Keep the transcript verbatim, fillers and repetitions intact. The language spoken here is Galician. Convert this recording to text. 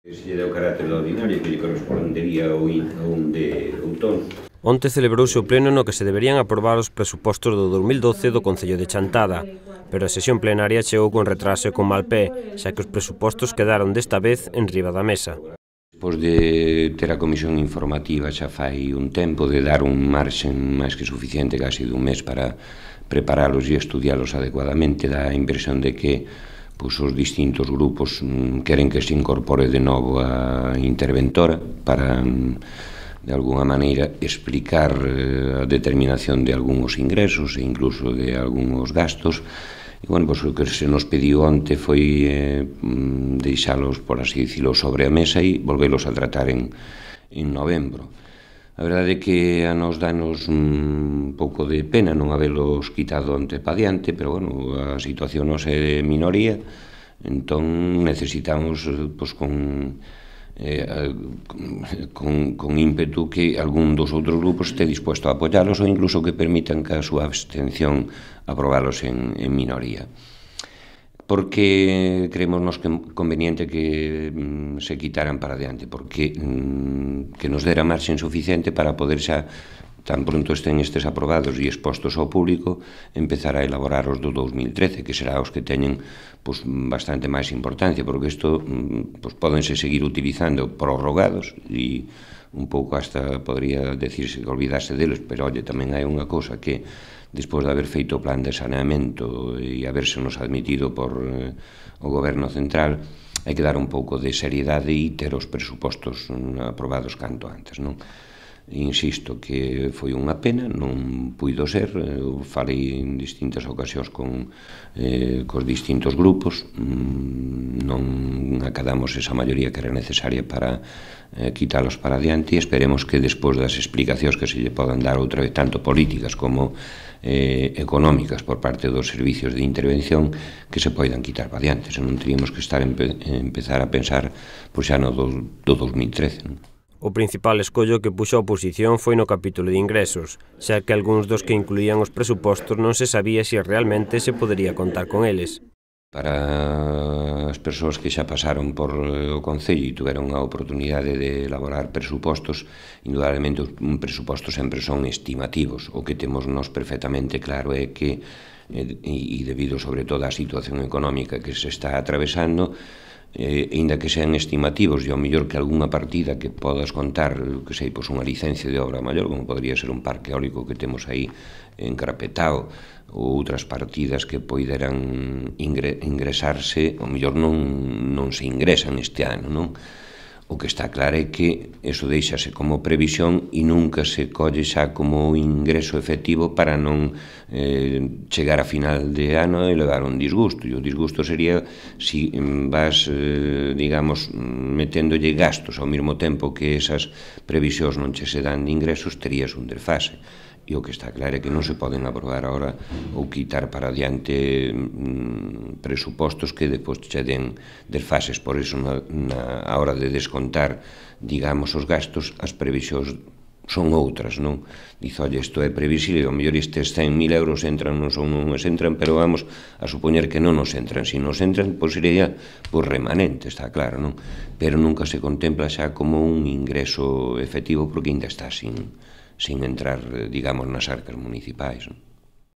Se lle dá o carácter ordinario que lle correspondería a un de outono. Onte celebrouse o pleno no que se deberían aprobar os presupostos do dos mil doce do Concello de Chantada, pero a sesión plenaria chegou con retraso e con mal pé, xa que os presupostos quedaron desta vez en riba da mesa. Despois de ter a comisión informativa xa fai un tempo, de dar un marxen máis que suficiente, casi dun mes, para preparalos e estudialos adecuadamente, da impresión de que pois, os distintos grupos queren que se incorpore de novo a interventora para, de alguna maneira, explicar a determinación de algúns ingresos e incluso de algúns gastos. E, bueno, pois, o que se nos pediu onte foi eh, deixalos, por así dicilo, sobre a mesa e volvelos a tratar en, en novembro. A verdade é que a nos danos un pouco de pena non habelos quitado onte pa diante, pero, bueno, a situación nos é minoría, entón necesitamos, pois, con... Eh, con, con ímpetu que algún dos outros grupos este dispuesto a apoialos ou incluso que permitan que a súa abstención aprobalos en, en minoría. Porque creemos nos que conveniente que mm, se quitaran para diante, porque mm, que nos dera marxen suficiente para poder xa, tan pronto estén estes aprobados e expostos ao público, empezar a elaborar os do dos mil trece, que será os que teñen pues, bastante máis importancia, porque isto pues, pódense seguir utilizando prorrogados e un pouco hasta podría decirse que olvidase deles, pero oye, tamén hai unha cousa que despois de haber feito o plan de saneamento e habérsenos admitido por eh, o goberno central, hai que dar un pouco de seriedade e ter os presupostos aprobados canto antes, non? Insisto que foi unha pena, non puido ser, eu falei en distintas ocasións con eh, cos distintos grupos, non acadamos esa maioría que era necesaria para eh, quitalos para adiante e esperemos que despois das explicacións que se lle podan dar outra vez, tanto políticas como eh, económicas por parte dos servicios de intervención, que se poidan quitar para adiante, senón teríamos que estar empe empezar a pensar pois xa no do, do dos mil trece, non? O principal escollo que puxo a oposición foi no capítulo de ingresos, xa que algúns dos que incluían os presupostos non se sabía se realmente se podería contar con eles. Para as persoas que xa pasaron por o Concello e tuveron a oportunidade de elaborar presupostos, indudablemente un presuposto sempre son estimativos. O que temos nos perfectamente claro é que, e debido sobre todo á situación económica que se está atravesando, Eh, ainda que sean estimativos e ao mellor que algunha partida que podas contar, que sei, pois unha licencia de obra maior, como podría ser un parque eólico que temos aí encarapetado, ou outras partidas que poideran ingre, ingresarse, ao mellor non, non se ingresan este ano, non? O que está claro é que eso deixase como previsión e nunca se colle xa como ingreso efectivo para non eh, chegar a final de ano e levar un disgusto. E o disgusto sería si vas, eh, digamos, meténdolle gastos ao mesmo tempo que esas previsións non che se dan de ingresos, terías un desfase. E o que está claro é que non se poden aprobar agora ou quitar para adiante mm, presupostos que depois che den desfases. Por iso, na, na a hora de descontar, digamos, os gastos, as previsións son outras, non? Dice, oye, isto é previsible, ao mellor estes cen mil euros entran, non son, non nos entran, pero vamos a supoñer que non nos entran. Si nos entran, pois sería por remanente, está claro, non? Pero nunca se contempla xa como un ingreso efectivo porque ainda está sin... sin entrar, digamos, nas arcas municipais, non?